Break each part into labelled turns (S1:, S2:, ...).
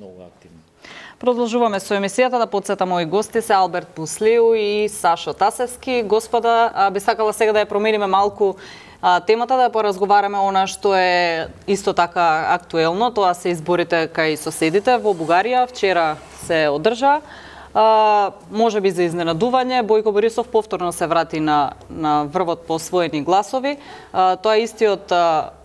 S1: многу активни.
S2: Продолжуваме со емисијата, да подсетам мои гости се Алберт Пуслиу и Сашо Тасевски. Господа, би сакала сега да ја промениме малку темата, да поразговараме она што е исто така актуелно, тоа се изборите кај соседите во Бугарија. Вчера се одржа. Може би за изненадување, Бојко Борисов повторно се врати на врвот по освоени гласови. Тоа е истиот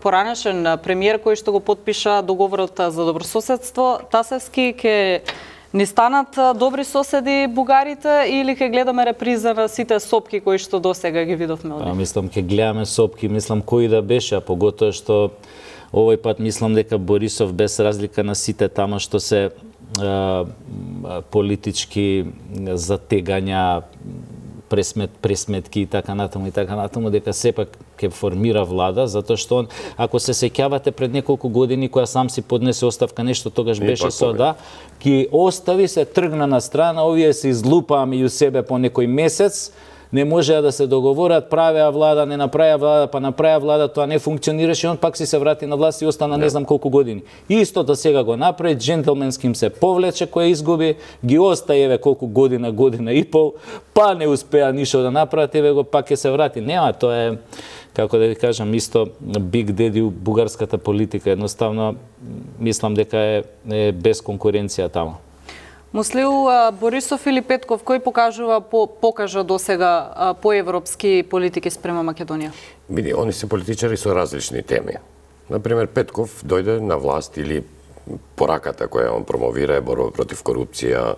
S2: поранешен премиер кој што го подпиша договорот за добрососедство. Тасевски, ке ни станат добри соседи бугарите или ке гледаме реприза на сите сопки кои што досега ги видовме од нив?
S1: Мислам ке гледаме сопки, мислам кои да беше, а поготоа што овој пат мислам дека Борисов без разлика на сите тама што се политички затегања, пресметки и така натаму, дека сепак ќе формира влада, затоа што он, ако се сеќавате пред неколку години која сам си поднесе оставка, нешто тогаш беше со ќе остави, се тргна на страна, овие се излупаа меѓу себе по некој месец, не можеа да се договорат, правеа влада, не направеа влада, па направеа влада, тоа не функционираше, он пак си се врати на власт и остана не знам колку години. Истото сега го направи, джентлменским се повлече, кој изгуби, ги остаи еве колку година и пол, па не успеа ништо да направат, еве го пак ќе се врати. Нема, тоа е, како да ви кажам, исто Big Daddy у бугарската политика, едноставно мислам дека е без конкуренција таму.
S2: Муслиу, Борисов или Петков, кој покажа досега поевропски политики спрема Македонија?
S3: Види, они се политичари со различни теми. Например, Петков дојде на власт или пораката која он промовира е борба против корупција,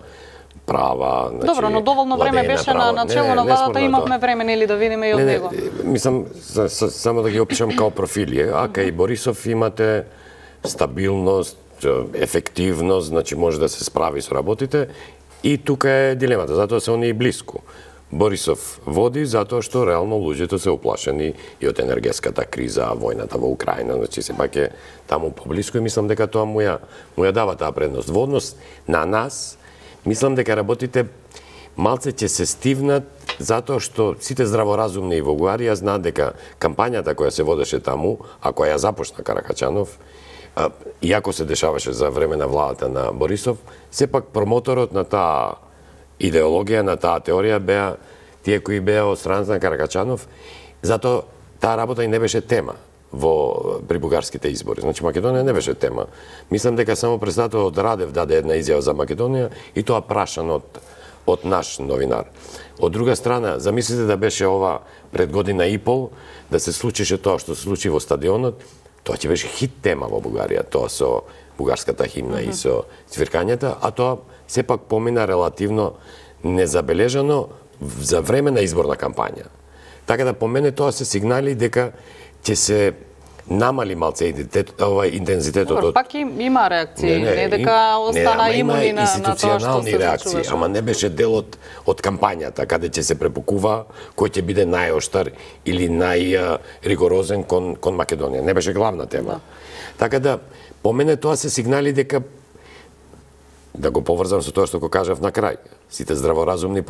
S3: права, значи,
S2: добро, но доволно време беше на начело на владата, имавме време нели да видиме и од него.
S3: Мислам само да ги опишам као профили, а кај Борисов имате стабилност, ефективност, значи може да се справи со работите и тука е дилемата, затоа се они и блиску. Борисов води затоа што реално луѓето се уплашени и од енергетската криза, војната во Украина, значи сепак е таму поблиску и мислам дека тоа му ја дава таа предност. Во однос на нас, мислам дека работите малце ќе се стивнат затоа што сите здраворазумни во Бугарија знаат дека кампањата која се водеше таму, а која ја започна Каракачанов, иако се дешаваше за време на владата на Борисов, сепак промоторот на таа идеологија, на таа теорија беа тие кои беа од страната на Каракачанов, затоа таа работа и не беше тема при бугарските избори. Значи Македонија не беше тема. Мислам дека само председателот Радев даде една изјава за Македонија и тоа прашан од наш новинар. Од друга страна, замислите да беше ова пред година и пол, да се случише тоа што се случи во стадионот, тоа ќе беше хит тема во Бугарија, тоа со бугарската химна и со цвиркањата, а тоа сепак помина релативно незабележано за време на изборна кампања. Така да по мене тоа се сигнали дека ќе се намали малце интензитетот од...
S2: Пак има реакции, не дека остана имуни на тоа што се
S3: реакции, ама не беше дел од кампањата, каде ќе се препукува кој ќе биде најоштар или најригорозен кон Македонија. Не беше главна тема. Така да, по мене тоа се сигнали дека, да го поврзам со тоа што го кажав на крај, сите здраворазумни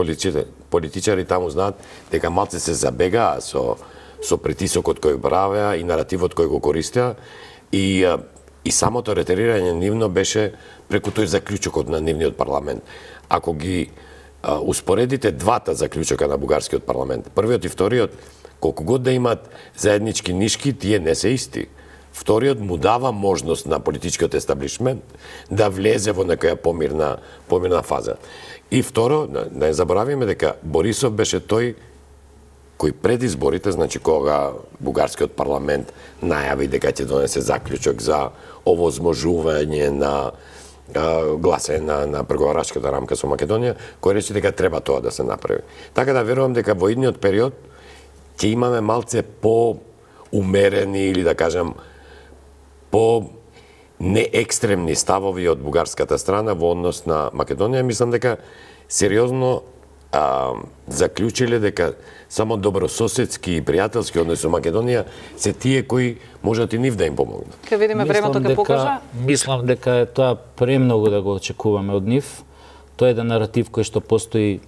S3: политичари таму знаат дека малце се забегаа со притисокот кој правеа и наративот кој го користеа и самото ретерирање нивно беше преку тој заклучокот на нивниот парламент. Ако ги успоредите двата заклучока на бугарскиот парламент, првиот и вториот, колку год да имат заеднички нишки, тие не се исти. Вториот му дава можност на политичкиот естаблишмент да влезе во некоја помирна фаза. И второ, не заборавиме дека Борисов беше тој кој пред изборите, значи кога бугарскиот парламент најави дека ќе донесе заклучок за овозможување на гласање на преговарачката рамка со Македонија, кој рече дека треба тоа да се направи. Така да верувам дека во идниот период ќе имаме малце по-умерени или да кажам по-неекстремни ставови од бугарската страна во однос на Македонија. Мислам дека сериозно заклучиле дека само добрососедски и пријателски односи со Македонија се тие кои можат и нив да им помогнат.
S2: Ке видиме времето ке покажа.
S1: Мислам дека е тоа премногу да го очекуваме од нив. Тоа е еден наратив кој што постои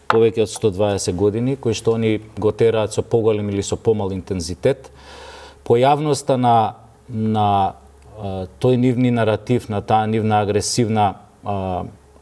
S1: повеќе од 120 години, кој што они го тераат со поголем или со помал интензитет. Појавноста на тој нивни наратив, на таа нивна агресивна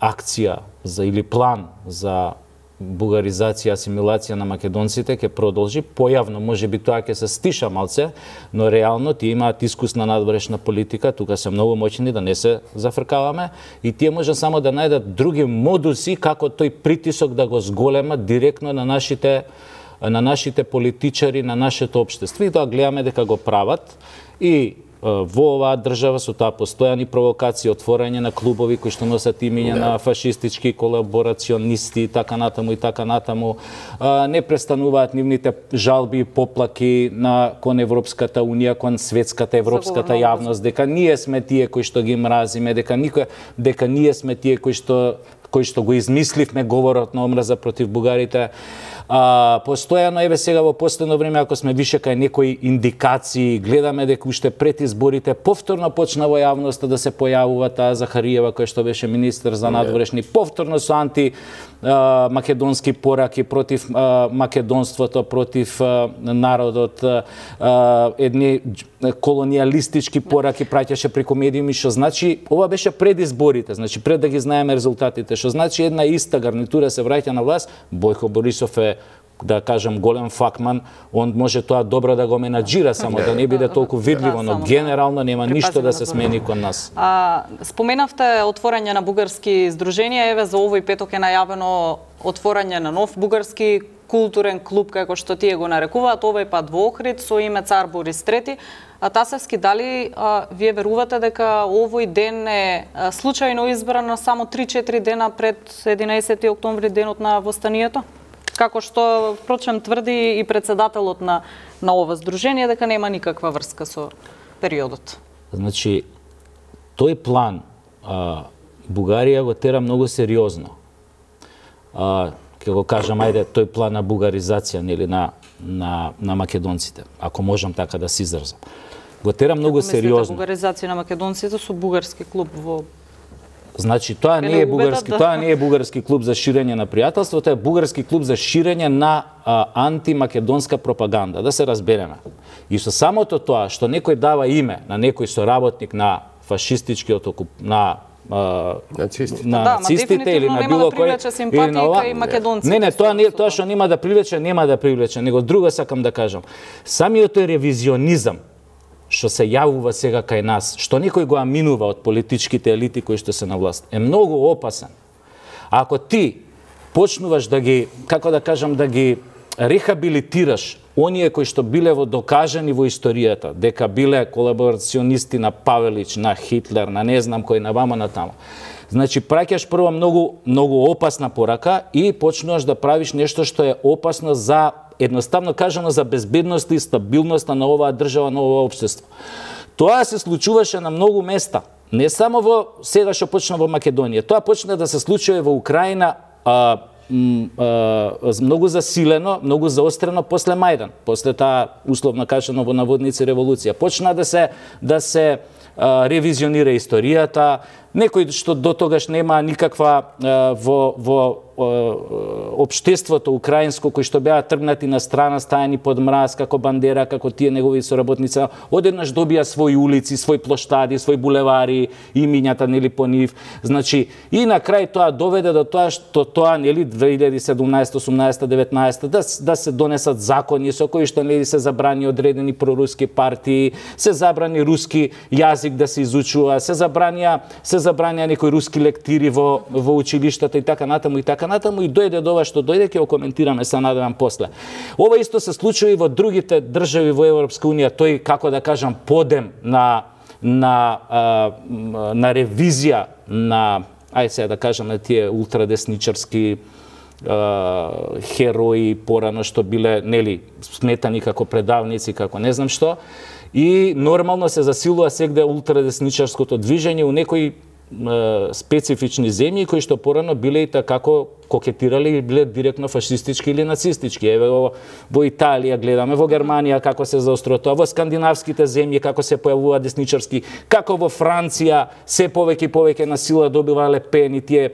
S1: акција или план за бугаризација, асимилација на македонците ќе продолжи. Појавно можеби тоа ќе се стиша малце, но реално тие имаат искусна надворешна политика, тука се многу моćни, да не се зафркаваме, и тие може само да најдат други модуси како тој притисок да го зголемат директно на нашите политичари, на нашето општество, и тоа гледаме дека го прават. И во оваа држава со таа постојани провокации, отворање на клубови кои што носат имиња на фашистички колаборационисти и така натаму, не престануваат нивните жалби и поплаки кон Европската унија, кон светската европската јавност, дека ние сме тие кои што ги мразиме, дека ние сме тие кои што го измисливме говорот на омраза против бугарите. Постојано, еве сега во последно време, ако сме више кај некои индикации, гледаме дека уште пред изборите повторно почна во јавноста да се појавува таа Захариева, која што беше министер за надворешни, повторно со македонски пораки против македонството, против народот, едни колонијалистички пораки праќаше преку медиуми, што значи ова беше пред изборите, значи пред да ги знаеме резултатите, што значи една иста гарнитура се враќа на власт. Бојко Борисов е, да кажам, голем факман, он може тоа добро да го менаџира, само да не биде толку видливо, но генерално нема ништо да се смени кон нас.
S2: Споменавте отворање на бугарски здруженија, еве за овој петок е најавено отворање на нов бугарски културен клуб, како што тие го нарекуваат, овој пат во Охрид со име Цар Борис III. Тасевски, дали вие верувате дека овој ден е случајно избран само 3-4 дена пред 11 октомври, денот на востанието? Како што, впрочем, тврди и председателот на ова здружение, дека нема никаква врска со периодот.
S1: Значи, тој план Бугарија го тера многу сериозно. Ке го кажам, ајде, тој план на бугаризација, нели, на македонците, ако можам така да се изразам. Го тера многу сериозно.
S2: Бугаризација на македонците со бугарски клуб во...
S1: Значи, тоа не е бугарски клуб за ширење на пријателство, тоа е бугарски клуб за ширење на антимакедонска пропаганда, да се разбереме. И со самото тоа што некој дава име на некој соработник на фашистичкиот на нацистите или на било кој, или на ова. Не, тоа што нема да привлече, него друго сакам да кажам. Самиот ревизионизам што се јавува сега кај нас, што некој го аминува од политичките елити кои што се на власт, е многу опасен. Ако ти почнуваш да ги, како да кажам, да ги рехабилитираш оние кои што биле докажани во историјата, дека биле колаборационисти на Павелич, на Хитлер, на не знам кој, на вама на тамо. Значи, праќаш прво многу опасна порака и почнуваш да правиш нешто што е опасно за, едноставно кажано, за безбедноста и стабилноста на оваа држава, на ова општество. Тоа се случуваше на многу места, не само во сега што почна во Македонија. Тоа почна да се случува во Украина многу засилено, многу заострено после Мајдан, после таа условно кажано во наводници револуција. Почна да се ревизионира историјата, некој што до тогаш нема никаква во општеството украинско, кои што беа тргнати на страна, стајани под мраз, како Бандера, како тие негови соработници, одеднаш добија своји улици, своји плоштади, своји булевари, имињата, нели, по нив. Значи, и на крај тоа доведе до тоа што тоа, нели, 2017, 18, 19, да се донесат закони со кои што, нели, се забрани одредени проруски партии, се забрани руски јазик да се изучува, се забранија некои руски лектири во училиштата и така натаму и дојде до ова што дојде, ќе го коментираме, се надевам после. Ова исто се случува и во другите држави во Европска унија, тој, како да кажам, подем на ревизија на, ајде сега да кажам, на тие ултрадесничарски херои порано што биле, нели, сметани како предавници, како не знам што, и нормално се засилува сегде ултрадесничарското движење у некои специфични земји кои што порано биле и како кокетирали и биле директно фашистички или нацистички. Еве во Италија гледаме, во Германија како се заострува тоа, во скандинавските земји како се појавува десничарски, како во Франција се повеќе и повеќе на сила добива Ле Пен и тие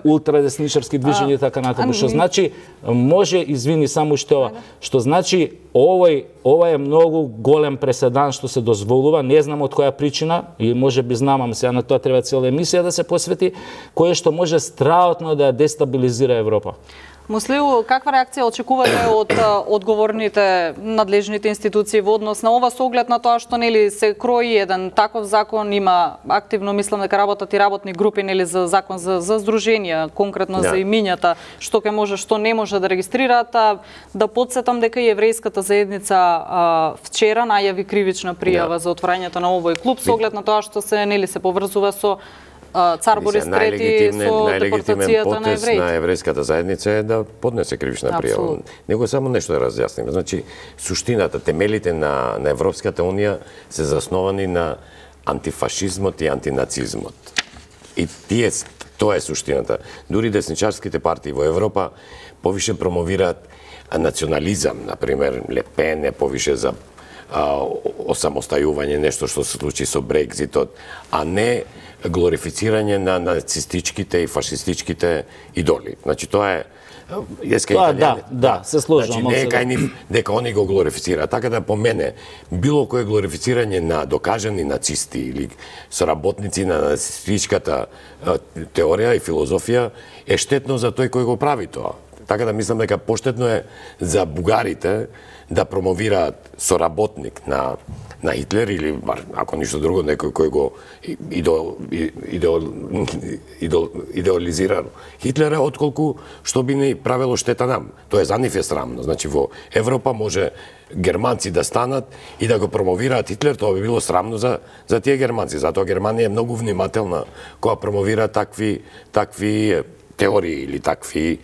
S1: ултрадесничарски движења и така натаму. Што значи, може, извини, само што значи ова е многу голем преседан што се дозволува, не знам од која причина, и можеби знам, ама сега на тоа треба цела емисија да се посвети, кое што може страотно да дестабилизира Европа.
S2: Муслиу, каква реакција очекувате од одговорните надлежните институции во однос на ова, со оглед на тоа што нели се крои еден таков закон, има активно, мислам дека работат и работни групи нели за закон за здруженија, конкретно за имињата, што ќе може, што не може да регистрираат. Да подсетам дека и еврејската заедница вчера најави кривична пријава за отворањето на овој клуб, со оглед на тоа што се нели се поврзува со Цар Борис III со депортацијата на евреите.
S3: На еврејската заедница е да поднесе кривична пријава. Него само нешто да разјасниме. Значи, суштината, темелите на Европската унија се засновани на антифашизмот и антинацизмот. И тоа е суштината. Дури десничарските партии во Европа повише промовираат национализам, например, Ле Пен е повише за осамостајување, нешто што се случи со Брекзитот, а не глорифицирање на нацистичките и фашистичките идоли. Значи тоа е
S1: Да, се сложувам.
S3: Значи не е кај нив дека они го глорифицираат. Така да по мене било кое глорифицирање на докажани нацисти или соработници на нацистичката теорија и филозофија е штетно за тој кој го прави тоа. Така да мислам дека поштетно е за бугарите да промовираат соработник на Хитлер или, ако ништо друго, некој кој го идеализира Хитлера, отколку што би не правило штета нам. Тоа за нив е срамно. Значи, во Европа може германци да станат и да го промовираат Хитлер, тоа би било срамно за тие германци. Затоа Германија е многу внимателна кога промовира такви теории или такви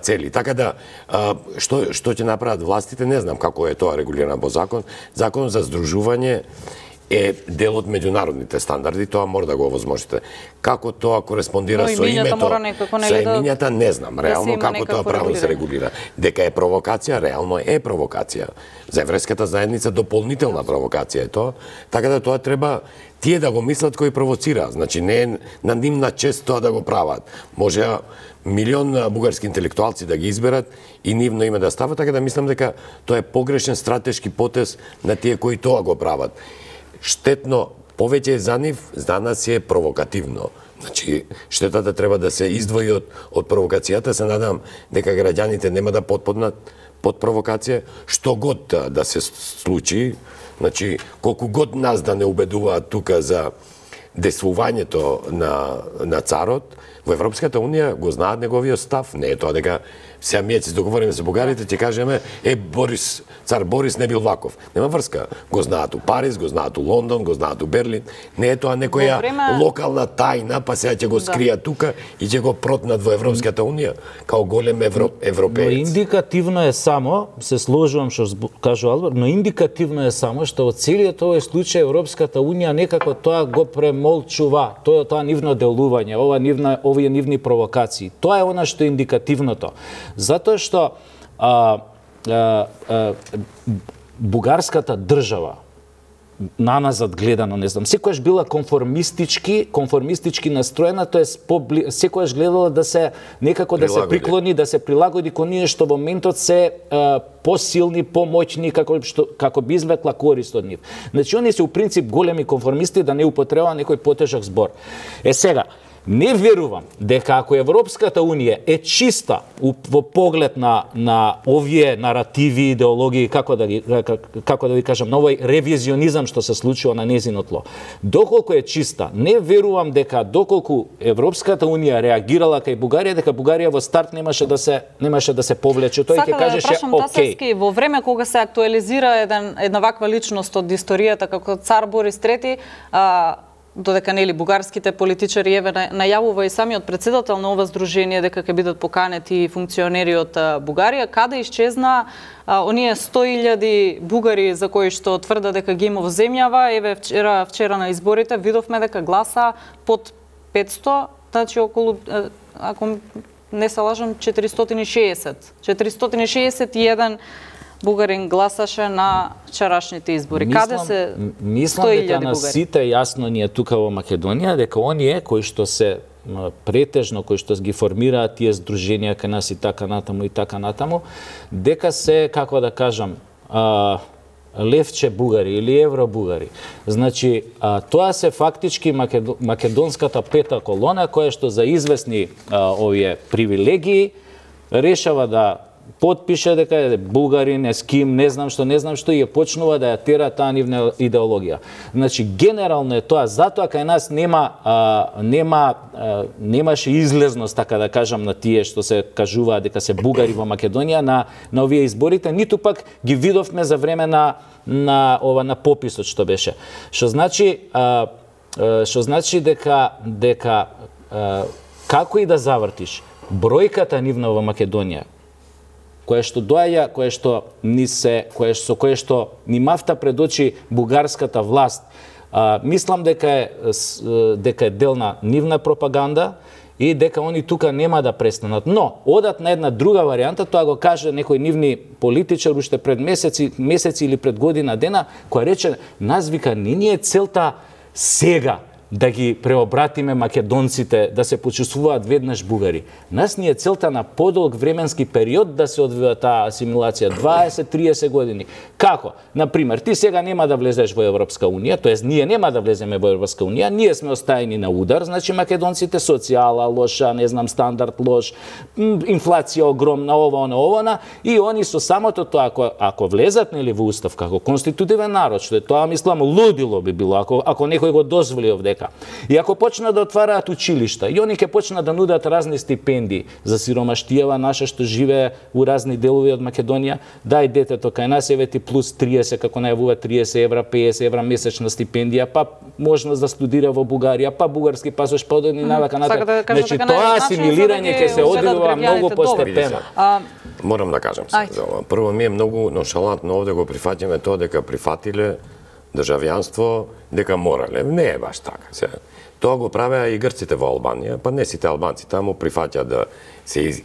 S3: цели. Така да, што ќе направат властите, не знам како е тоа регулирано во закон. Закон за здружување е дел од меѓународните стандарди, тоа мора да го овозможите. Како тоа кореспондира со името, со имињата, не знам, реално како тоа право се регулира. Дека е провокација, реално е провокација. За еврејската заедница дополнителна провокација е тоа, така да тоа треба тие да го мислат кои провоцира. Значи, не е на нивна чест тоа да го прават. Може милион бугарски интелектуалци да ги изберат и нивно име да стават, така да мислам дека тоа е погрешен стратешки потез на тие кои тоа го прават. Штетно, повеќе за нив, за нас е провокативно. Значи, штетата треба да се издвои од провокацијата. Се надам дека граѓаните нема да потпаднат под провокација. Што год да се случи, значи, колку год нас да не убедуваат тука за действувањето на царот, во Европската унија го знаат неговиот став. Не е тоа дека сега ние се договориме со бугарите, ќе кажеме цар Борис не бил ваков. Нема врска. Го знаат у Париз, го знаат у Лондон, го знаат у Берлин. Не е тоа некоја локална тајна, па сега ќе го скријат тука и ќе го протнат во Европската унија као голем европеец.
S1: Но индикативно е само, се сложувам што кажу Алберт, но индикативно е само што од целиот овој случај Европската унија некако тоа го премолчува, тоа нивно делување, овие нивни провокации. Тоа е она што е индикативното. Затоа што бугарската држава, наназад гледано, не знам, секојаш била конформистички настроена, тоа е секојаш гледала да се некако да се приклони, да се прилагоди кон ние што во моментот се посилни, помоćни, како би извлекла корист од нив. Значи, они се у принцип големи конформисти, да не употребува некој потежок збор. Сега, не верувам дека ако Европската унија е чиста во поглед на овие наративи, идеологии, како да ви кажам, на овој ревизионизам што се случува на нејзино тло. Доколку е чиста, не верувам дека доколку Европската унија реагирала кај Бугарија, дека Бугарија во старт немаше да се повлече. Тој ќе кажеше окей.
S2: Во време кога се актуализира една ваква личност од историјата како цар Борис III, додека нели бугарските политичари најавува и самиот председател на ова здружение дека ќе бидат поканети функционери од Бугарија, каде исчезна оние 100.000 бугари за кои што тврда дека ги има во земјава. Еве вчера на изборите видовме дека гласа под 500, значи околу, ако не се лажам, 461 бугарин гласаше на вчерашните избори. Каде се 100.000 бугари?
S1: Мислам дека на сите јасно ни е тука во Македонија, дека оние кои што се претежно, кои што ги формираат тие здруженија кај нас и така натаму, дека се, како да кажам, левче бугари или евро бугари. Значи, тоа се фактички македонската пета колона која што за известни овие привилегии решава да потпише дека е бугарин, еским, не знам што и почнува да ја тера таа нивна идеологија. Значи, генерално е тоа, затоа кај нас немаше излезност, така да кажам, на тие што се кажуваат дека се бугари во Македонија на овие изборите, ниту пак ги видовме за време на пописот што беше. Што значи дека како и да завртиш, бројката нивна во Македонија кое што доаѓа, кое што ни мафта пред очи бугарската власт, мислам дека е дел на нивна пропаганда и дека они тука нема да престанат. Но, одат на една друга варијанта, тоа го каже некој нивни политичар уште пред месеци или пред година дена, која рече, нас вика, не ни е целта сега да ги преобратиме македонците, да се почувствуваат веднаш бугари. Нас ни е целта на подолг временски период да се одвива таа асимилација, 20-30 години. Како? Например, ти сега нема да влезеш во Европска унија, тоест ние нема да влеземе во Европска унија, ние сме остаени на удар, значи македонците социјала лоша, не знам, стандард лош, инфлација огромна, ова, и они со самото тоа, ако влезат нели во устав како конститутивен народ, што е тоа, мислам, лудило би било, ако некој го дозволи овдека. И ако почнат да отвараат училишта, и они ќе почнат да нудат разни стипендии за сиромаштијава наша што живее у разни делови од Македонија, дај детето кај нас, еве ти плюс 30, како најавува 30 евра, 50 евра месечна стипендија, па можност да студира во Бугарија, па бугарски пасош, па одени навака натаму. Значи тоа асимилирање ќе се одвива многу постепено.
S3: Морам да кажам се за ова. Прво, ми е многу ноншалантно овде го прифаќаме тоа дека прифатиле државјанство, дека морале. Не е баш така. Тоа го правеа и грците во Албанија, па не сите албанци таму прифаќаат да се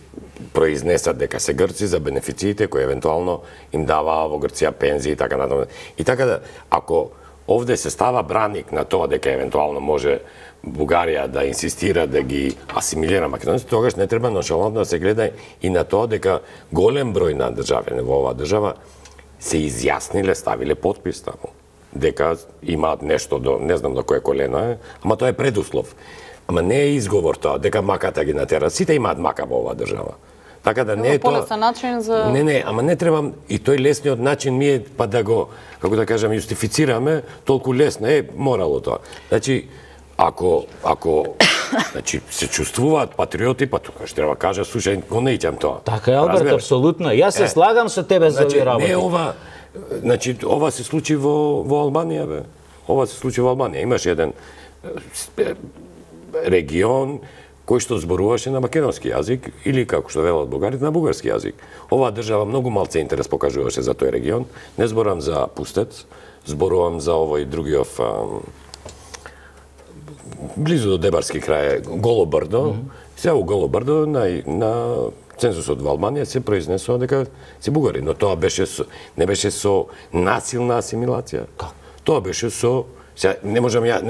S3: произнесат дека се грци за бенефициите кои евентуално им даваа во Грција пензии и така натаму. И така да, ако овде се става браник на тоа дека евентуално може Бугарија да инсистира да ги асимилира македонците, тогаш не треба ноншалантно да се гледа и на тоа дека голем број на државјани во оваа држава се изјасниле, ставиле подпис таму, дека имаат нешто до, не знам до кое колено е, ама тоа е предуслов. Ама не е изговор тоа, дека маката ги натера. Сите имаат мака во оваа држава. Така да не е тоа...
S2: Полесен начин за...
S3: Не, ама не треба... И тој лесниот начин ми е, па да го, како да кажам, јустифицираме, толку лесно е морало тоа. Значи, ако значи, се чувствуваат патриоти, па тоа што треба кажа, слушај, го не ичам тоа.
S1: Така е, Алберт, апсолутно. Јас се слагам со тебе за овие работи.
S3: Не ова... Значи, ова се случи во Албанија, бе. Ова се случи во Албанија. Имаш еден регион кој што зборуваше на македонски јазик или, како што велат бугарите, на бугарски јазик. Оваа држава многу малце интерес покажуваше за тој регион. Не зборувам за Пустец, зборувам за овој другиот близу до Дебарски крај, Голо брдо. Сега у Голо брдо на цензусот во Албанија се произнесува дека се бугари, но тоа не беше со насилна асимилација. Тоа беше со... Не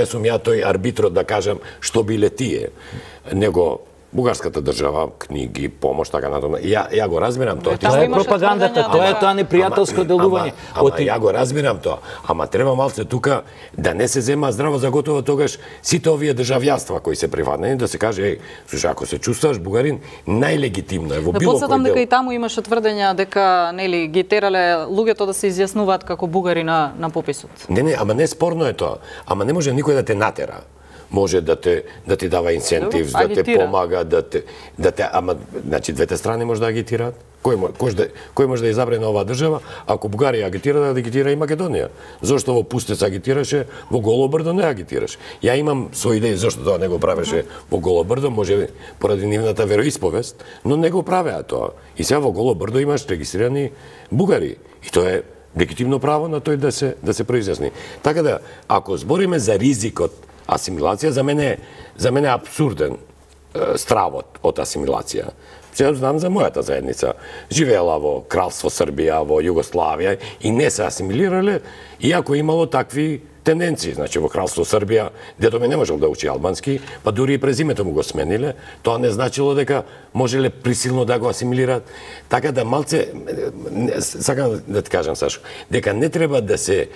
S3: сум ја тој арбитрот да кажам што биле тие, него бугарската држава, книги, помош, така натаму. Ја го разбирам тоа.
S1: Тоа е пропагандата, тоа е тоа непријателско делување.
S3: Ама ја го разбирам тоа. Ама треба малце тука да не се зема здраво за готово тогаш сите овие државјанства кои се приватни, да се каже, слушај, ако се чувствуваш бугарин, најлегитимно е во било кој дел.
S2: Да подсетам дека и таму имаше тврдења дека нели ги терале луѓето да се изјаснуваат како бугари на пописот.
S3: Не, ама не спорно е тоа. Ама не може никој да те натера. Може да ти дава инсентив, да те помага, ама значи двете страни може да агитираат. Кој може да избере на оваа држава, ако Бугарија агитира, да агитира и Македонија. Зошто во Пустец агитираше, во Голо брдо не агитираше? Ја имам своји идеи зошто тоа не го правеше во Голо брдо, може поради нивната вероисповест, но не го правеа тоа. И сега во Голо брдо имаш регистрирани бугари. И тоа е легитимно право на тој да се произјасни. Така да, ако збориме за ризикот асимилација, за мене е абсурден стравот од асимилација. Сега знам за мојата заедница. Живеела во Кралство Србија, во Југославија и не се асимилирале, иако имало такви тенденции. Значи во Кралство Србија, дето ме не можел да учи албански, па дури и презимето му го смениле, тоа не значило дека можеле присилно да го асимилираат. Така да малце, сакам да ти кажам, Сашо, дека не треба да се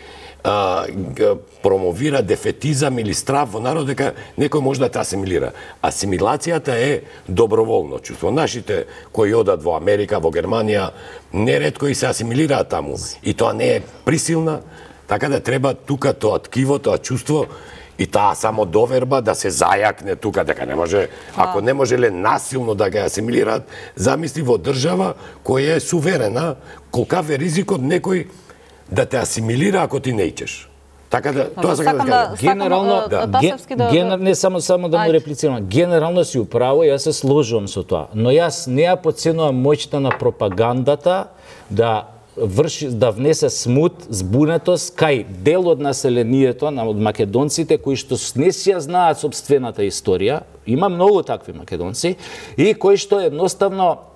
S3: промовира дефетизам или страв во народ дека некој може да те асимилира. Асимилацијата е доброволно чувство. Нашите кои одат во Америка, во Германија, неретко и се асимилираат таму. И тоа не е присилна, така да треба тука тоа ткиво, тоа чувство и таа само доверба да се зајакне тука, дека не може, ако не можеле насилно да ги асимилираат, замисли во држава која е суверена, колкав е ризикот некој да те асимилира ако ти не ичеш. Така да, тоа сакам да кажам.
S1: Генерално, не само да му реплицирам, генерално си управо, јас се сложувам со тоа, но јас не ја подценувам моќта на пропагандата да внесе смут, збунетост кај дел од населението, од македонците кои што не си ја знаат сопствената историја, има многу такви македонци, и кои што едноставно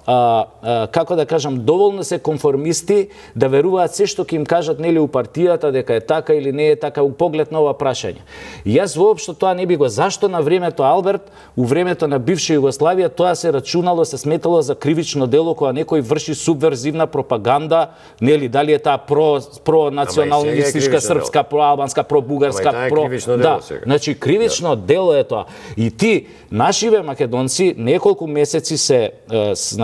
S1: како да кажам, доволно се конформисти да веруваат се што ќе им кажат нели у партијата дека е така или не е така у поглед на ова прашање. Јас воопшто тоа не би го. Зашто на времето Алберт, у времето на бивша Југославија, тоа се рачунало, се сметало за кривично дело кога некој врши субверзивна пропаганда, нели дали е таа про националистичка српска, про албанска, про бугарска, да, значи кривично дело е тоа. И ти нашиве македонци неколку месеци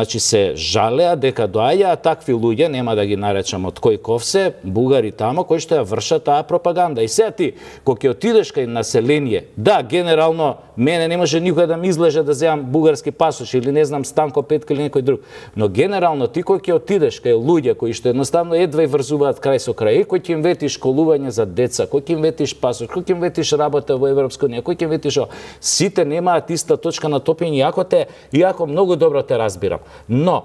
S1: се жалеа дека доаѓаат такви луѓе, нема да ги наречам од кој ковсе, бугари тамо, кои што ја вршат таа пропаганда. И сега ти, кога ќе отидеш кај население, да, генерално, мене не може никој да ми излеже да земам бугарски пасош или не знам Станко Петка или некој друг. Но генерално ти кога ќе отидеш кај луѓе кои што едноставно едва и врзуваат крај со крај, кој ќе им ветиш школување за деца, кој ќе им ветиш пасош, кој ќе им ветиш работа во Европска унија, кој ќе им ветиш, сите немаат иста точка на топење, иако многу добро те разбирам. Но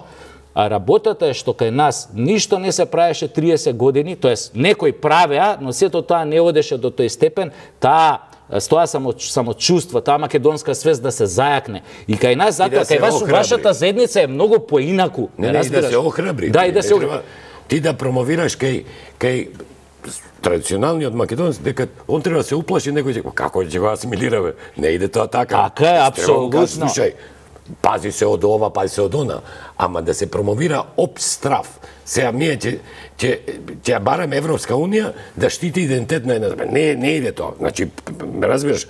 S1: работата е што кај нас ништо не се правеше 30 години, тоест некои правеа, но сето тоа не одеше до тој степен, тоа самочувство, таа македонска свест да се зајакне. И кај нас, затоа, кај вашата заедница е многу поинаку.
S3: Не, и да се охрабри.
S1: Да, и да се охрабри.
S3: Ти да промовираш кај традиционалниот македонец, дека он треба да се уплаши, некој ќе како ќе го асимилираме. Не иде тоа така.
S1: Така е, апсолутно.
S3: Слушај, пази се од ова, пази се од она, ама да се промовира обстраф. Сега ние ќе бараме Европска унија да штити идентитет на една земја. Не иде тоа. Значи, разбираш,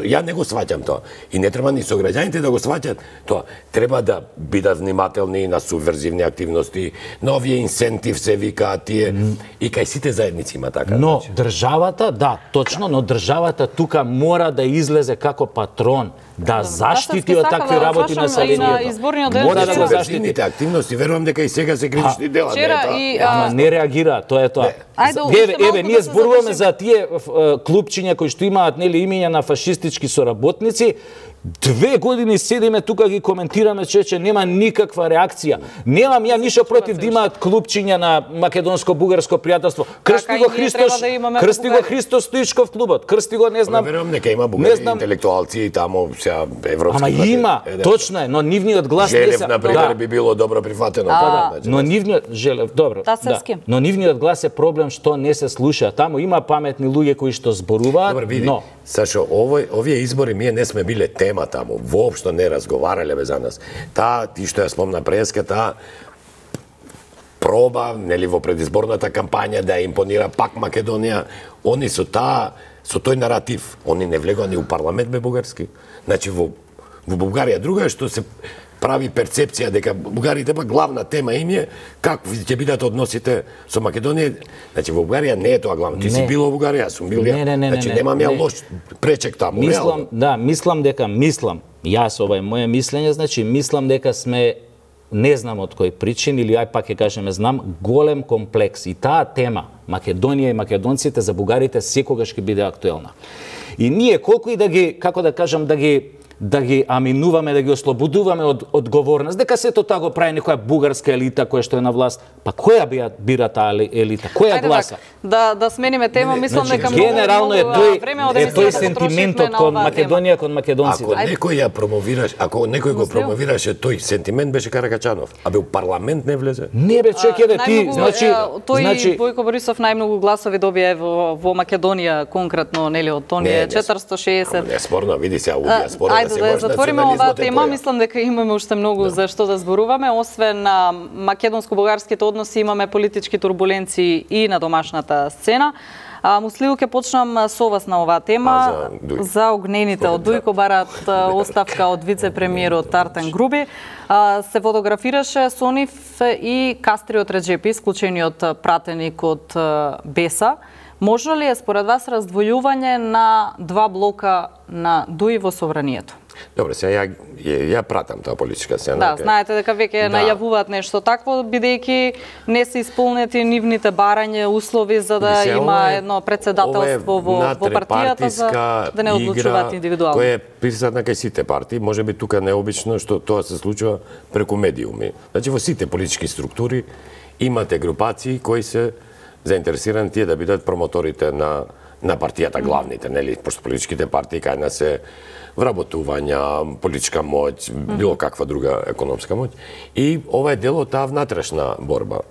S3: ја не го сваќам тоа. И не треба ни сограѓаните да го сваќат тоа. Треба да бидат внимателни на субверзивни активности, на овие инсентив се викаат тие. И кај сите заедници има така.
S1: Но државата, да, точно, но државата тука мора да излезе како патрон, да заштити од такви работи населението.
S2: Мора
S1: да го заштити.
S3: Активности, верувам дека и сега се кривични дела.
S1: Ама не реагира, тоа е тоа. Еве, ние зборуваме за тие клубчиња кои што имаат нели имиња на фашистички соработници. 2 години седиме тука ги коментираме, че нема никаква реакција. Немам ја ништо против да имаат клубчиња на македонско-бугарско пријателство. Крсти го Христо Стоичков клубот. Крсти го, не знам.
S3: Верувам дека има бугари интелектуалци и тамо сега европски.
S1: Ама има, точно е, но нивниот глас не се.
S3: Желев, например, би било добро прифатено.
S1: Но нивниот добро. Но нивниот глас е проблем што не се слуша. Тамо има паметни луѓе кои што зборуваат, но
S3: Сашо, овие избори ние не сме биле тема таму, воопшто не разговарале за нас. Ти што ја спомна преска, проба, нели, во предизборната кампања да импонира пак Македонија, они со тој наратив, они не влегоа ни у парламент бе бугарски. Значи, во Бугарија друга што се прави перцепција дека бугарите па главна тема им е како ќе бидат односите со Македонија. Значи во Бугарија не е тоа главно. Ти си бил во Бугарија, сум бил ја. Значи немам ја лош пречек таму.
S1: Мислам, јас ова е моје мислење, значи мислам дека сме, не знам од кој причин, или ај пак ќе кажеме знам, голем комплекс. И таа тема, Македонија и македонците за бугарите секогаш ќе биде актуелна. И ние колку и да ги, како да кажам, да ги да ги аминуваме, да ги ослободуваме од одговорност, дека сето тоа го прави некоја бугарска елита која што е на власт. Па која бира таа елита? Која гласа?
S2: Да смениме тема, мислам дека
S1: генерално е тој сентиментот кон Македонија, кон македонците.
S3: Ако некој го промовираше тој сентимент, беше Каракачанов. А бе у парламент не влезе?
S1: Не бе, чекајте ти,
S2: тој Бојко Борисов најмногу гласови добија во Македонија конкретно, нели, од оние 460.
S3: Не спорно, види се, аудија спорно да се
S2: може затвориме оваа тема, мислам дека имаме уште многу за што да зборуваме, освен на македонско-бугарските односи имаме политички турбуленции и на домашната сцена. Муслиу, ќе почнам со вас на оваа тема. За огнените од Дујко бараат оставка од вице-премиерот Артан Груби. Се фотографираше со нив и Кастриот Реджепи, исклучениот пратеник од Беса. Може ли е според вас раздвојување на два блока на Дуи во собранието?
S3: Добре, сега ја пратам таа политичка сцена.
S2: Да, знаете дека веќе најавуваат нешто такво, бидејќи не се исполнети нивните барања, услови за да има едно председателство во партијата за да не одлучуваат индивидуално.
S3: Која е присутна кај сите партии, можеби тука необично што тоа се случува преку медиуми. Значи во сите политички структури имате групации кои се заинтересирани тие да бидат промоторите на партијата, главните, нели, пошто политичките партии кај нас се вработувања, политичка моќ, било каква друга економска моќ. И ова е дел од таа внатрешна борба.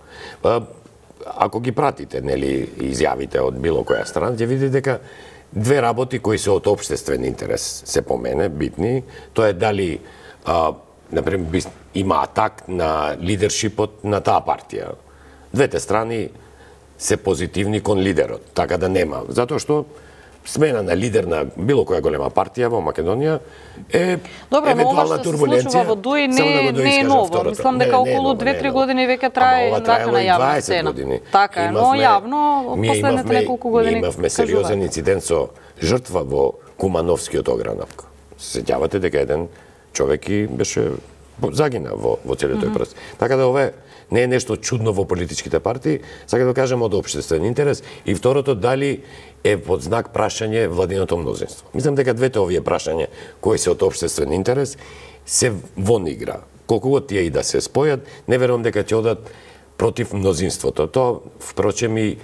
S3: Ако ги пратите, нели, изјавите од било која страна, ќе видите дека две работи кои се од општествен интерес се по мене битни, тоа е дали например има атак на лидершипот на таа партија. Двете страни се позитивни кон лидерот, така да нема. Затоа што смена на лидер на било која голема партија во Македонија е евентуална турбуленција.
S2: Случува во Дуи не е ново. Мислам дека околу 2-3 години веќе трае вака на јавна сцена. Така е, но јавно последните неколку години
S3: имавме сериозен инцидент со жртва во Кумановскиот огранак. Се сеќавате дека еден човек и беше загина во целиот тој процес. Така да ова не е нешто чудно во политичките партии, сакам да кажам од општествен интерес, и второто дали е под знак прашање владиното мнозинство. Мислам дека двете овие прашања кои се од општествен интерес се вон игра. Колку год тие и да се спојат, не верувам дека ќе одат против мнозинството. Тоа впрочем и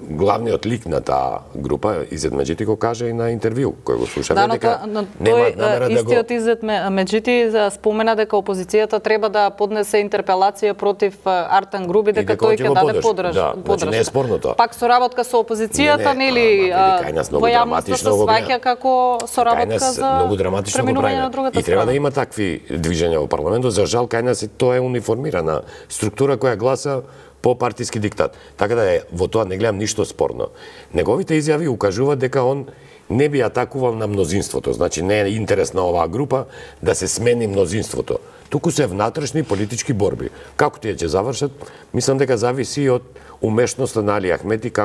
S3: главниот лик на таа група, Изет Меджити, го кажа и на интервју кој го слушаме, дека нема намера да го...
S2: Истиот Изет Меджити спомена дека опозицијата треба да поднесе интерпелација против Артан Груби, дека тој ќе даде подршка.
S3: Значи не е спорно тоа.
S2: Пак соработка со опозицијата, нели, во јавноста се сваќа како соработка за преминување на другата страна.
S3: И треба да има такви движења во парламентот. За жал, кај нас тоа е униформирана структура која гласа по партиски диктат. Така да во тоа не гледам ништо спорно. Неговите изјави укажуваат дека он не би атакувал на мнозинството. Значи не е интерес на оваа група да се смени мнозинството. Туку се внатрешни политички борби. Како тие ќе завршат, мислам дека зависи од умешноста на Али Ахмети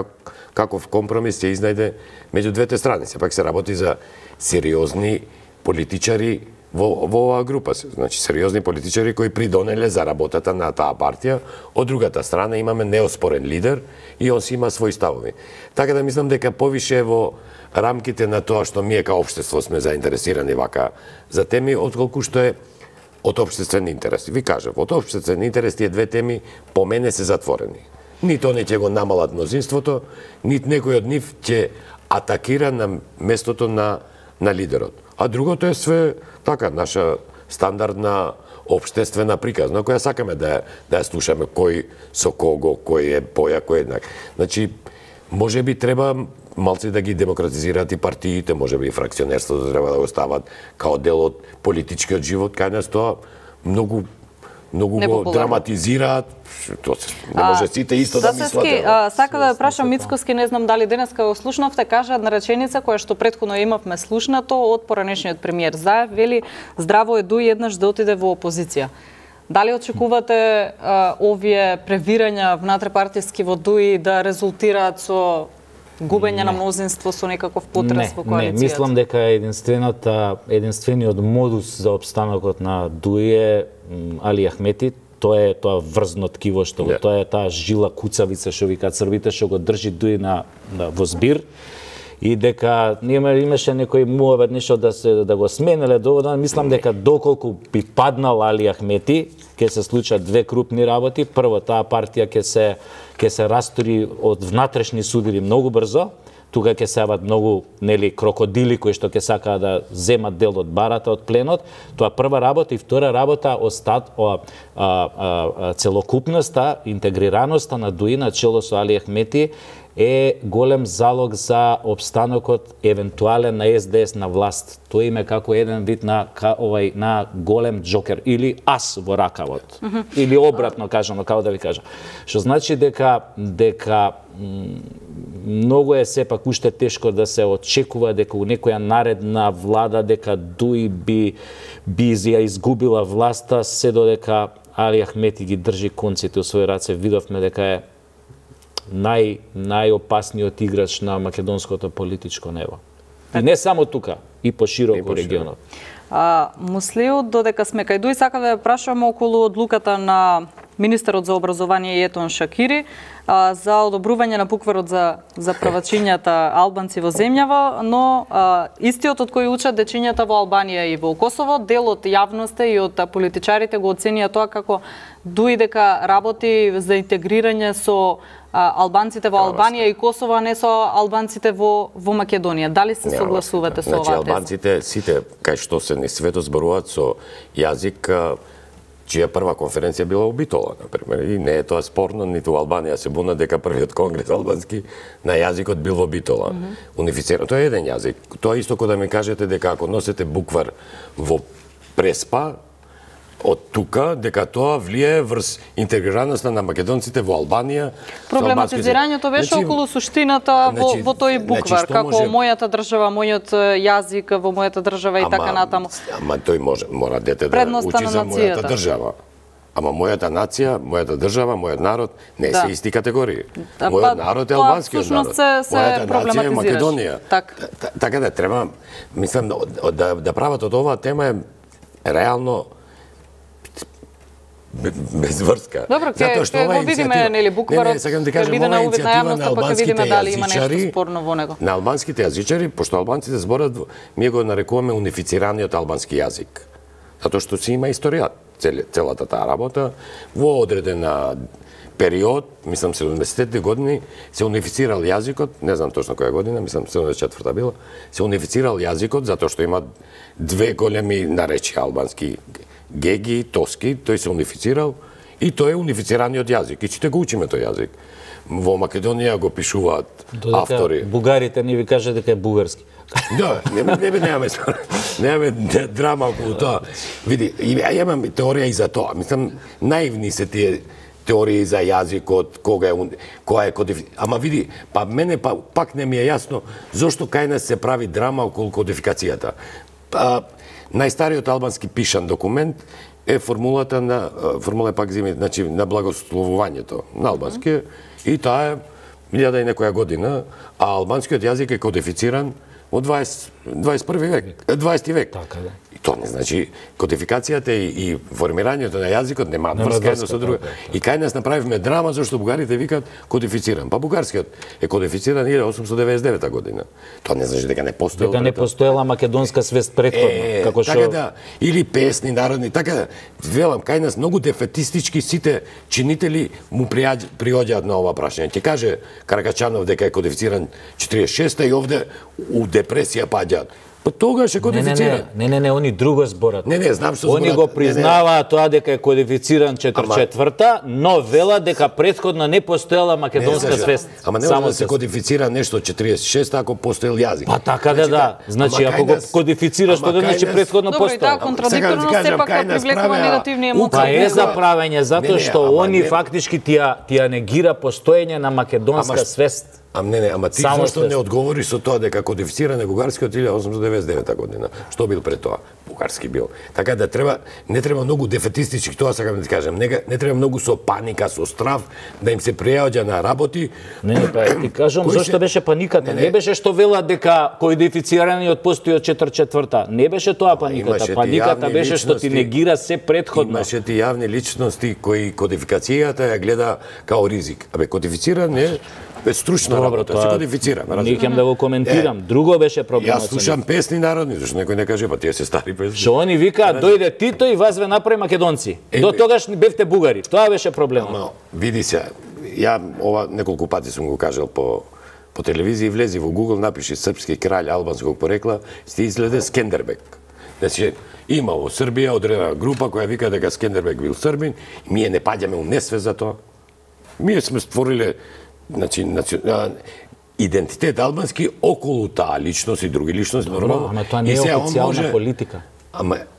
S3: каков компромис ќе изнајде меѓу двете страни. Сепак се работи за сериозни политичари во оваа група. Значи сериозни политичари кои придонеле за работата на таа партија. Од другата страна имаме неоспорен лидер и он си има своји ставови. Така да мислам дека повише во рамките на тоа што ние као општество сме заинтересирани вака за теми, отколку што е од општествен интерес. Ви кажав, од општествен интерес тие две теми по мене се затворени. Нито не ќе го намалат мнозинството, нит некој од нив ќе атакира на местото на лидерот. А другото е све така наша стандардна општествена приказна која сакаме да ја слушаме, кој со кого, кој е поја, кој е еднак. Значи можеби треба малци да ги демократизираат и партиите, можеби и фракционерството треба да го стават као дел од политичкиот живот, кај нас тоа многу го драматизираат. Тоа не може сите исто да мислат.
S2: Сака да прашам Мицкоски, не знам дали денеска го слушнавте, кажа една реченица која што претходно имавме слушнато од поранешниот премиер Заев, вели здраво е Дуи еднаш да отиде во опозиција. Дали очекувате овие превирања внатре-партиски во Дуи да резултираат со губење на мнозинство, со некаков потрес во коалицијата?
S1: Не, мислам дека единствениот модус за опстанокот на Дуи е Али Ахмети. Тоа е тоа врзно ткиво што тоа е таа жила куцавица што викаат србите што го држи Дуи во збир. и дека имаше некој муавет нешто да го сменеле доводно. Мислам дека доколку би паднал Али Ахмети, ќе се случат две крупни работи. Прво, таа партија ќе се растури од внатрешни судири многу брзо. Тука ќе се јават многу крокодили кои што ќе сакаат да земат дел од барата, од пленот. Тоа прва работа, и втора работа, целокупноста, интегрираноста на ДУИ на чело со Али Ахмети е голем залог за обстанокот евентуален на СДС на власт. Тој им е како еден вид на голем джокер или ас во ракавот. Или обратно кажано, како да ви кажам. Што значи дека многу е сепак уште тешко да се очекува дека у некоја наредна влада дека ДУИ би ја изгубила власта, се додека Али Ахмети ги држи конците у своји раце. Видовме дека е најопасниот играч на македонското политичко небо. И не само тука, и пошироко регионот.
S2: Муслиу, додека сме кај ДУИ, сакам да ја прашам околу одлуката на министерот за образование Етон Шакири за одобрување на букварот за правачињата албанци во земјава, но истиот од кој учат дечињата во Албанија и во Косово, дел од јавноста и од политичарите го оценија тоа како ДУИ дека работи за интегрирање со албанците во Албанија и Косово, а не со албанците во Македонија. Дали се согласувате со оваа теза?
S3: Албанците сите кај што се не светот зборуваат со јазик чија прва конференција била у Битола, например, и не е тоа спорно, ниту Албанија се буна дека првиот конгрес албански на јазикот бил во Битола. Унифицирано, тоа е еден јазик. Тоа исто кога да ми кажете дека ако носите буквар во Преспа, од тука, дека тоа влие врз интегрираноста на македонците во Албанија.
S2: Проблематизирањето беше околу суштината во тој буквар, како мојата држава, мојот јазик во мојата држава и така натаму.
S3: Ама тој мора дете да учи за мојата држава. Ама мојата нација, мојата држава, мојот народ не се исти категории. Мојот народ е албанскиот народ. Мојата нација е Македонија. Така да треба, мислам, да прават од оваа тема е реално без врска.
S2: Добро, ќе го видиме, нели, букварот, ќе биде на увид на јавноста, па ќе видиме дали има нешто спорно во него.
S3: На албанските јазичари, пошто албанците зборат, ние го нарекуваме унифицираниот албански јазик. Затоа што си има историја, целата таа работа, во одреден период, мислам 70-те години, се унифицирал јазикот, не знам точно која година, мислам 74-та била, се унифицирал јазикот затоа што има две големи наречија албански, геги, тоски, тој се унифицирал и тој е унифицираниот јазик. И сите го учиме тој јазик. Во Македонија го пишуваат автори.
S1: Бугарите не ви кажат дека е бугарски.
S3: Да, немаме драма околу тоа. Види, ја имам теорија и за тоа. Мислам, наивни се тие теории за јазикот, која е кодификација. Ама види, па мене пак не ми е јасно зошто кај нас се прави драма околу кодификацијата. Најстариот албански пишан документ е формула пак зими, значи на благословувањето на албански, и таа е 1000 и некоја година, а албанскиот јазик е кодифициран во 21 век, 20 век.
S1: Така да.
S3: И тоа не значи кодификацијата и формирањето на јазикот немаат врска едно со друго. И кај нас направивме драма зашто бугарите викаат кодифициран. Па бугарскиот е кодифициран 1899 година. Тоа не значи дека не постоела.
S1: Дека не постоела македонска свест претходно, како што
S3: така да, или песни народни, така да. Велам, кај нас многу дефетистички сите чинители му приоѓаат на ова прашање. Ќе каже Каракачанов дека е кодифициран 46-та и овде у депресија паѓаат. Па тогаш е кодифициран.
S1: Не, они друго зборат.
S3: Не, знам што зборат.
S1: Они го признаваат тоа дека е кодифициран 44-та, но велат дека претходно не постоела македонска свест.
S3: Ама не може да се кодифицира нешто 46-та ако постоел јазик.
S1: Па така да. Значи ако го кодифицираш, тоа значи претходно постоел.
S2: Добро, и таа контрадикторност сепак привлекува негативни емоции.
S1: Па е за правење, затоа што они фактички тија негира постоење на македонска свест.
S3: Ама ти зашто не одговори со тоа дека кодифициран е бугарскиот 1899 година? Што бил пред тоа? Бугарски бил. Така да не треба многу дефетистички, тоа сакам да ти кажам. Не треба многу со паника, со страв, да им се пријаѓа на работи.
S1: Не, па ти кажам зашто беше паниката. Не беше што велат дека кодифицираниот постои од 44-та. Не беше тоа паниката. Паниката беше што ти негира се претходно.
S3: Имаше ти јавни личности кои кодификацијата ја гледа као ризик. Абе, кодифициран е стручна работа, се кодифицира.
S1: Не ќе да го коментирам. Друго беше проблемот.
S3: Јас слушам песни народни, зашто некој не каже, па тие се стари песни.
S1: Што они викаат, дојде Тито и вас ве направи македонци. До тогаш не бевте бугари. Тоа беше проблемот.
S3: Види се, ја ова неколку пати сум го кажал по телевизија, влези во Google, напиши српски краљ албанског порекла, сте изгледа Скендербек. Значи, има во Србија одредена група која вика дека Скендербек бил србин, и ние не паѓаме у несвест за тоа. Ние сме створиле идентитет албански околу таа личност и други личности, нормално.
S1: Ама тоа не е официјална политика.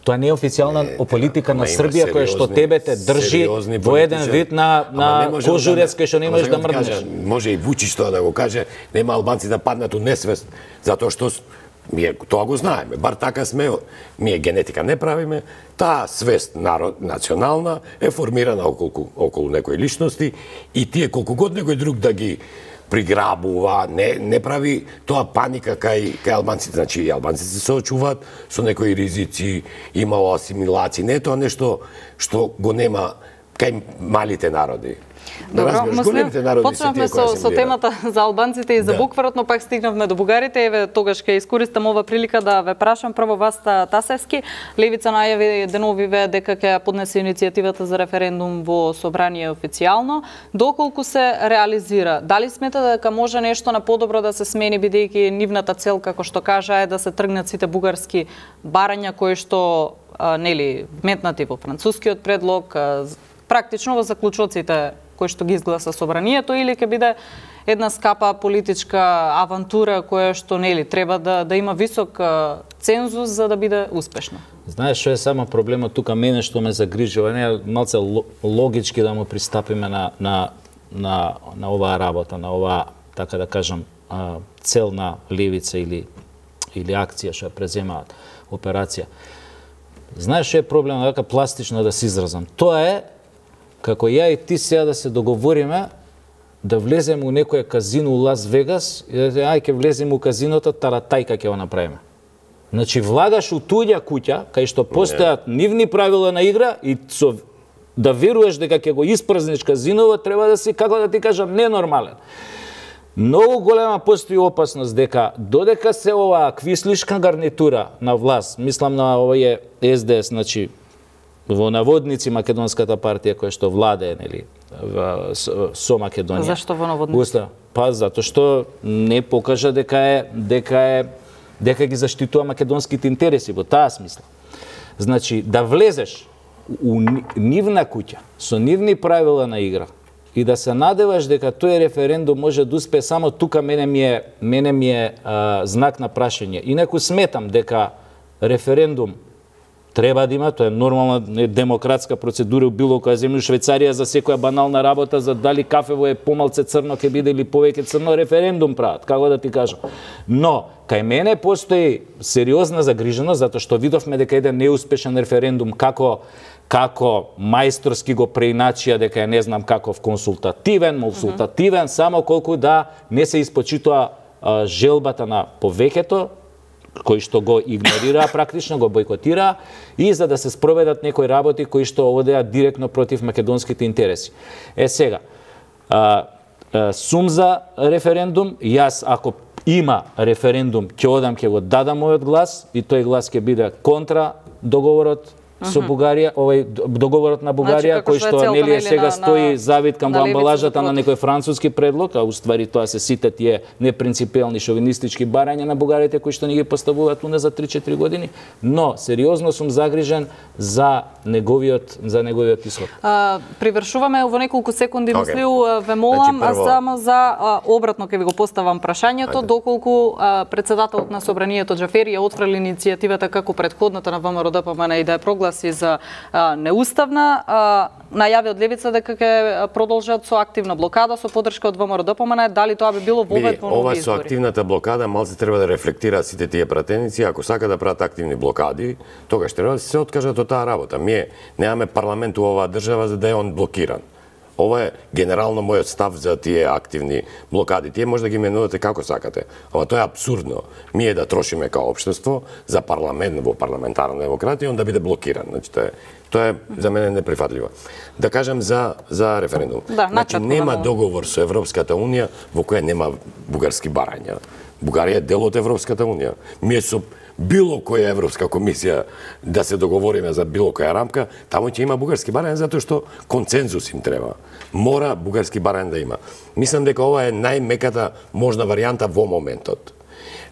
S1: Тоа не е официјална политика на Србија која што тебе те држи во еден вид на кожурец кај што не можеш да мрднеш.
S3: Може и Вучич тоа да го каже, нема албанци да паднат у несвест, затоа што тоа го знаеме, бар така сме, ние генетика не правиме, таа свест национална е формирана околу некои личности и тие колку год некој друг да ги приграбува, не прави тоа паника кај албанците. Значи, албанците се соочуваат со некои ризици, имало асимилација, не е тоа нешто што го нема кај малите народи.
S2: Добро, почнавме со темата за албанците и за букварот, но пак стигнавме до бугарите. Еве, тогаш ќе искористам ова прилика да ве прашам прво вас, Тасевски. Левица најави деновиве дека ќе поднесе иницијативата за референдум во собрание официјално. Доколку се реализира, дали смета дека може нешто на подобро да се смени, бидејќи нивната цел, како што кажа, е да се тргнат сите бугарски барања кои што нели метнати во францускиот предлог, практично во заклучоците кој што ги изгласа собранието, или ќе биде една скапа политичка авантура која што нели треба да има висок цензус за да биде успешна?
S1: Знаеш што е само проблемот тука, мене што ме загрижува, не малце логички да му пристапиме на оваа работа, на оваа, така да кажам, цел на левица или акција што ја преземаат, операција. Знаеш што е проблемот, дека пластично да се изразам? Тоа е како ја и ти сега да се договориме да влеземе у некој казино у Лас Вегас и да ќе влеземе у казиното, таратајка ќе го направиме. Значи, влагаш у туѓа куќа, кај што постојат нивни правила на игра и да веруваш дека ќе го испразниш казиново, треба да си, како да ти кажам, ненормален. Многу голема постои опасност дека додека се оваа квислишка гарнитура на власт, мислам на овие СДС, значи, во наводници македонската партија која што владее, нели, со Македонија.
S2: Зашто во наводници?
S1: Па затоа што не покажа дека ги заштитува македонските интереси во таа смисла. Значи, да влезеш у нивна куќа со нивни правила на игра и да се надеваш дека тој референдум може да успее, само тука мене ми е знак на прашање. Инаку сметам дека референдум треба да има, тоа е нормална демократска процедура у било која земја. Швајцарија за секоја банална работа, за дали кафево е помалце црно ќе биде или повеќе црно, референдум прават, како да ти кажам. Но кај мене постои сериозна загриженост затоа што видовме дека еден неуспешен референдум како мајсторски го преиначија дека е не знам каков консултативен, само колку да не се испочитува желбата на повеќето, кои што го игнорираа, практично го бойкотираа, и за да се спроведат некои работи кои што одеа директно против македонските интереси. Сега, сум за референдум, јас ако има референдум, ќе го дадам мојот глас, и тој глас ќе биде контра договорот со Бугарија, договорот на Бугарија, кој што нели сега стои завиткан во амбалажата на некој француски предлог, а уствари тоа се сите тие непринципелни шовинистички барања на бугарите кои што ни ги поставуваат уна за 3-4 години, но сериозно сум загрижен за неговиот исход.
S2: Привршуваме во неколку секунди, Муслиу, ве молам, само за обратно ќе ви го поставам прашањето, доколку председателот на собранието Џафери ја отфрли иницијативата како претходната на ВМРО-ДПМН и да ја прогласи за неуставна, најави од левица дека ќе продолжат со активна блокада со поддршка од ВМРО-ДПМН, дали тоа би било вовед во нови избори?
S3: Ова со активната блокада малце треба да рефлектираат сите тие пратеници, ако сака да прават активни блокади, тогаш треба да се откажат од таа работа. Ние немаме парламент у оваа држава за да е он блокиран. Ова е генерално мојот став за тие активни блокади. Тие може да ги менувате како сакате, ама тоа е апсурдно. Ние да трошиме као општество за парламент во парламентарна демократија, он да биде блокиран. Значи, Тоа е за мене неприфатливо. Да кажам за референдум.
S2: Да,
S3: значи нема договор со Европската унија во која нема бугарски барања. Бугарија е дел од Европската унија. Ние со било која Европска комисија да се договориме за било која рамка, таму ќе има бугарски барања затоа што концензус им треба. Мора бугарски барања да има. Мислам дека ова е најмеката можна варијанта во моментот.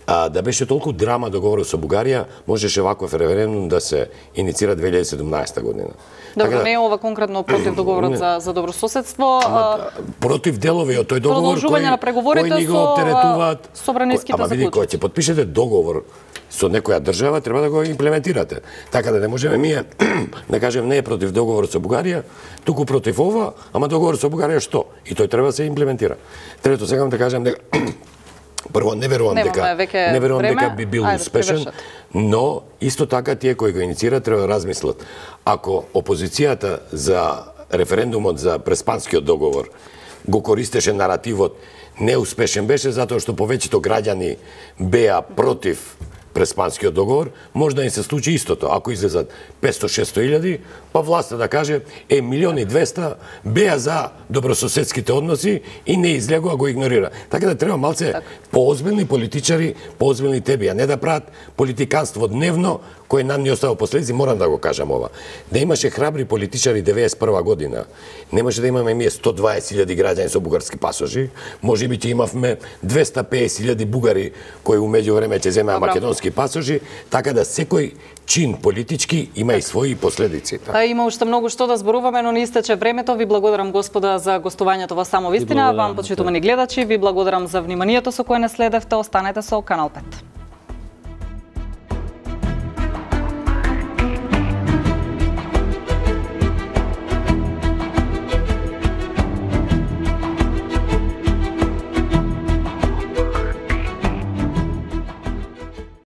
S3: Да беше толку драма договорот со Бугарија, можеше ваков референдум да се иницира 2017 година.
S2: Добро, не е ова конкретно против договорот за добрососедство.
S3: Против делови од тој договор кои ни го оптеретуваат.
S2: Собраниските
S3: заклучоци. Кога ќе подпишете договор со некоја држава, треба да го имплементирате. Така да не можеме ние да кажем не е против договорот со Бугарија, туку против ова, ама договорот со Бугарија што? И тој треба да се имплементира. Трето, сакам да кажам дека прво, не верувам дека би бил успешен, но исто така тие кои го инициират треба да размислат. Ако опозицијата за референдумот за Преспанскиот договор го користеше наративот неуспешен беше затоа што повеќето граѓани беа против Преспанскиот договор, може да им се случи истото. Ако излезат 500-600 илјади, па власта да каже, 1.200.000 беа за добрососедските односи и не излегува, го игнорира. Така да треба малце поозбилни политичари, поозбилни теби, а не да прават политиканство дневно, кој нам ни остава последици, морам да го кажам ова. Да имаше храбри политичари 91 година, немаше да имаме ние 120.000 граѓани со бугарски пасожи, може би ќе имавме 250.000 бугари кои умеѓу време ќе земеа македонски пасожи, така да секој чин политички има и своји последици.
S2: Има уште многу што да зборуваме, но ни истече времето. Ви благодарам, господа, за гостувањето во Само вистина. Вам, почитувани гледачи, ви благодарам за вниманието со кое не следевте. Останете со Канал 5.